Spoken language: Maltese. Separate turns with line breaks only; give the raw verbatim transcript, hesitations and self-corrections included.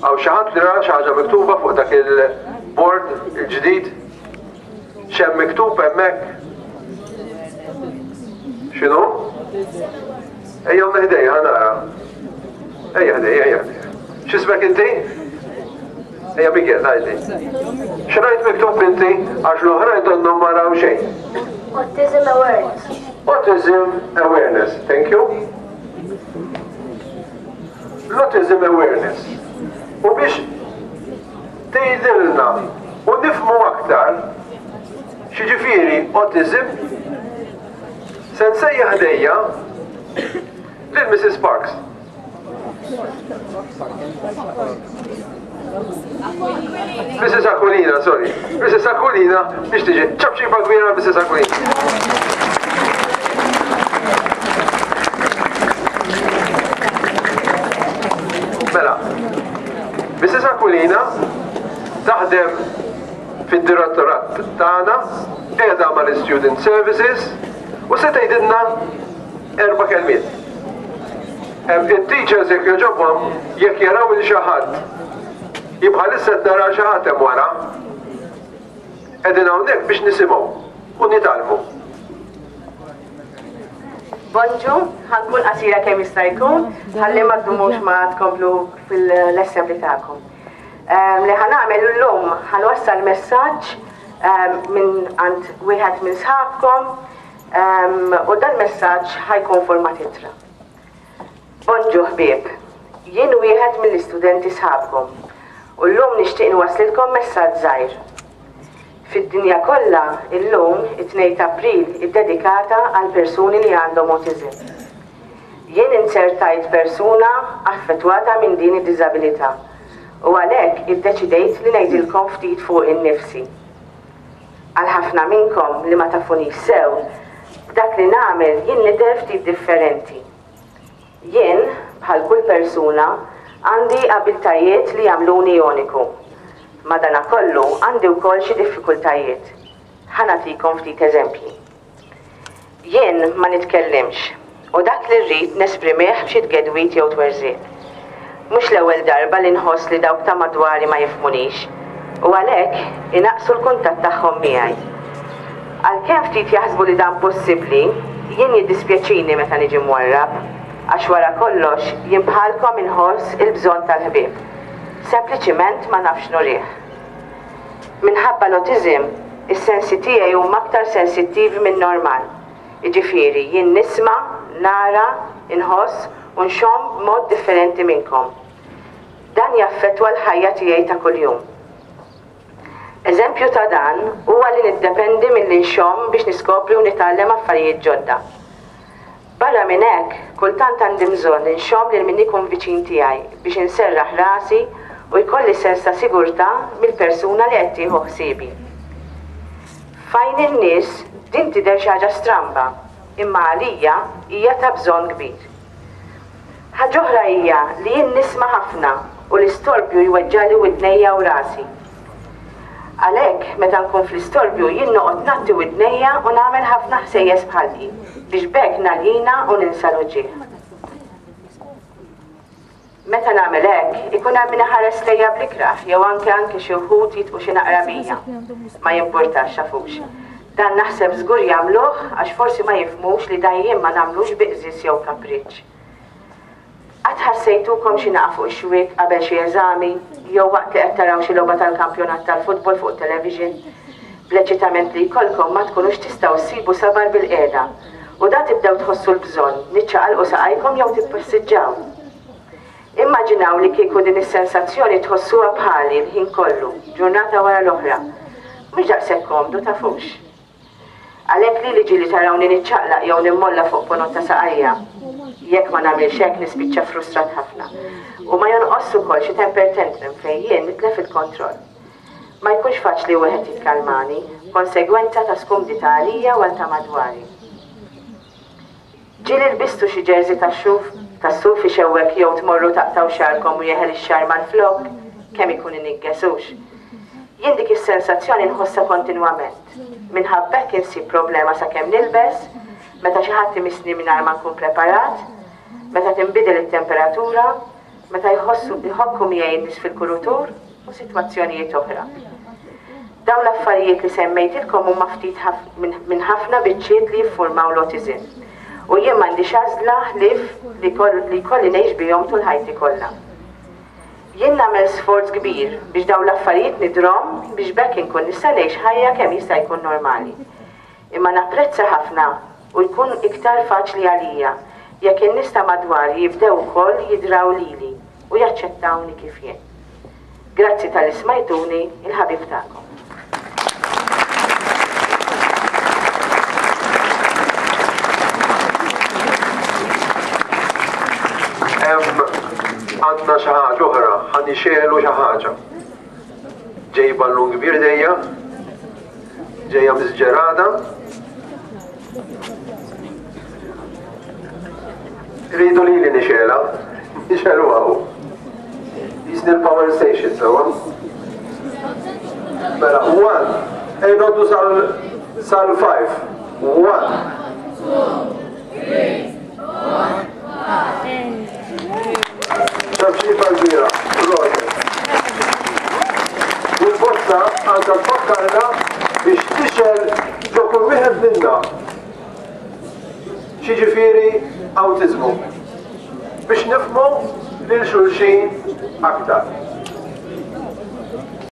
Hawn xi ħadd li ra xi ħaġa miktuba fuq dak il-board il-ġdid? X'hemm miktub hemmhekk? X'inhu? Ejja ħdejja, ħa nara. Ejja ħdejja, ejja ħdejja. X'ismek inti? Ejja Miguel, għidli. X'rajt miktub inti għax l-oħrajn donnhom ma raw xejn.
Autism Awareness.
Autism Awareness, thank you. L-Autism Awareness. U biex tgħidilna u nifhmu aktar x'jiġifieri autism, se nsejjaħ ħdejja lil Missus Parks. Missus Aquilina, sorry. Missus Aquilina biex tiġi. Ċapċipa kbira Missus Aquilina. Mela, Missus Aquilina taħdem fid-direttorat tagħna, qiegħda mal-Student Services u se tgħidilna erba' kelmiet. Il-teachers jekk jogħġobhom jekk jaraw il xi ħadd jibħalissa qed nara xi ħadd hemm wara, qegħdin hawnhekk biex nisimgħu u nitgħallmu.
Bonġu, ħankun qasira kemm jista' jkun, ħalli ma ddumux ma tkomplu fil-assembly tagħkom. Li ħanagħmel illum ħanwassal messaġġ minn għand wieħed minn sħabkom u dan messaġġ ħajkun forma titra. Bonġu ħbieb, jien wieħed mill-istudenti sħabkom u llum nixtieq nwaslilkom messaġġ żgħir. Fid-dinja kollha illum it-tnejn ta' April iddedikata għal persuni li għandhom autism. Jien insertajt persuna affettwata minn din id-diżabilità u għalhekk iddeċidejt li ngħidilkom ftit fuq innifsi. Għal ħafna minnkom li ma tafunix sew, b'dak li nagħmel jien nidher ftit differenti. Jien, bħal kull persuna, għandi abiltajiet li jagħmluni uniku. Madanakollu għandi wkoll xi diffikultajiet. Ħa nagħtikom ftit eżempji. Jien ma nitkellimx u dak li rrid nesprimih b'xi tgedwit jew twerżiq. Mhux l-ewwel darba li nħoss li dawk ta' madwari ma jifhmunix u għalhekk inaqqsu l-kuntatt tagħhom miegħi. Għalkemm ftit jaħsbu li dan possibbli, jien jiddispjaċini meta niġi mwarrab, għax wara kollox jien bħalkom inħoss il-bżonn tal-ħbieb. Sempliċiment ma nafx nurih. Minħabba l-autism, is-sensi tiegħi huma aktar sensittivi minn normal. Jiġifieri jien nisma', nara, inħoss u nxomm b'mod differenti minnkom. Dan jaffettwa l-ħajja tiegħi ta' kuljum. Eżempju ta' dan huwa li niddependi milli nxomm biex niskopri u nitgħallem affarijiet ġodda. Barra minn hekk, kultant għandi bżonn inxomm lil min ikun viċin tiegħi biex inserraħ rasi u jkolli sens ta' sigurtà mill-persuna li qed tieħu ħsiebi. F'għajn in-nies din tidher xi ħaġa stramba, imma għalija hija ta' bżonn kbir. Ħaġa oħra hija li jien nisma' ħafna u l-istorbju jweġġali widnejja u rasi. Għalhekk meta nkun fl-istorbju jien noqgħod nagħti widnejja u nagħmel ħafna ħsejjes bħalqi biex b'hekk naljina u ninsa l-uġigħ. Meta nagħmel hekk, ikun hemm min iħares lejja bl-ikrah jew anke anke xi wħud jitqu xi naqra bija. Ma jimpurtax xafux. Dan naħseb żgur jagħmluh għax forsi ma jifhmux li dan jien ma nagħmlux bi qżież jew kapriċċ. Qatt ħassejtukom xi naqa' fuq ix-xwiek qabel xi eżami jew waqt li qed taraw xi logħba tal-kampjonat tal-futbol fuq television? Bl-eċitament li jkollkom ma tkunux tistgħu ssibu sabar bil-qiegħda u da tibdew tħossu l-bżonn li ċċaqalqu saqajkom jew tippassiġġaw. Immaġinaw li kieku din is-sensazzjoni tħossuha bħali l-ħin kollu, ġurnata wara l-oħra. Mhux daqshekk komdu tafux. Għalhekk li ġieli tarawni niċċaqlaq jew nimmolla fuq ponot ta' saqajja. Jekk ma nagħmilx hekk nispiċċa frustrat ħafna. U ma jonqos ukoll xi temper tantrum fejn jien nitlef il-kontroll. Ma jkunx faċli wieħed jikkalmani, konsegwenza ta' skumdità għalija u għal ta' madwari. Ġieli lbistu xi ġerżi tax-xuf, tas-suf ixewwek jew tmorru taqtaw xagħarkom u jeħel ix-xagħar mal-flok, kemm ikun iniggesux. Jien dik is-sensazzjoni nħossha kontinwament. Minħabba hekk insib problema sakemm nilbes, meta xi ħadd imissni mingħajr ma nkun preparat, meta tinbidel it-temperatura, meta jħossu jħokku miegħi n-nies fil-kurutur u sitwazzjonijiet oħra. Dawn l-affarijiet li semmejtilkom huma ftit minn ħafna biċċiet li jiffurmaw l-autism. U jien m'għandix għażla ħlief li jkolli ngħix bihom tul ħajti kollha. Jien nagħmel sforz kbir biex dawn l-affarijiet nidrhom biex b'hekk inkun nista' ngħix ħajja kemm jista' jkun normali. Imma napprezza ħafna u jkun iktar faċli għalija jekk in-nies ta' madwari jibdew ukoll jidraw lili u jaċċettawni kif jien. Grazzi talli smajtuni, il-ħabib tagħkom.
Għandna xi ħaġa oħra, ħa nixegħlu xi ħaġa. Ġej ballun kbir dejja, ġejja miżġerada. Rridu li li nixegħla, nixegħlu għaw. Jisni l-power station, sewa. Mela, one, ej noddu sal five. One.
Two, three, four, five.
Ċabċipa kbira, Roger. Il-bozza għandha tfakkarna biex tixgħel ġo kull wieħed minna. X'jiġifieri awtiżmu. Biex nifhmu lil xulxin aktar.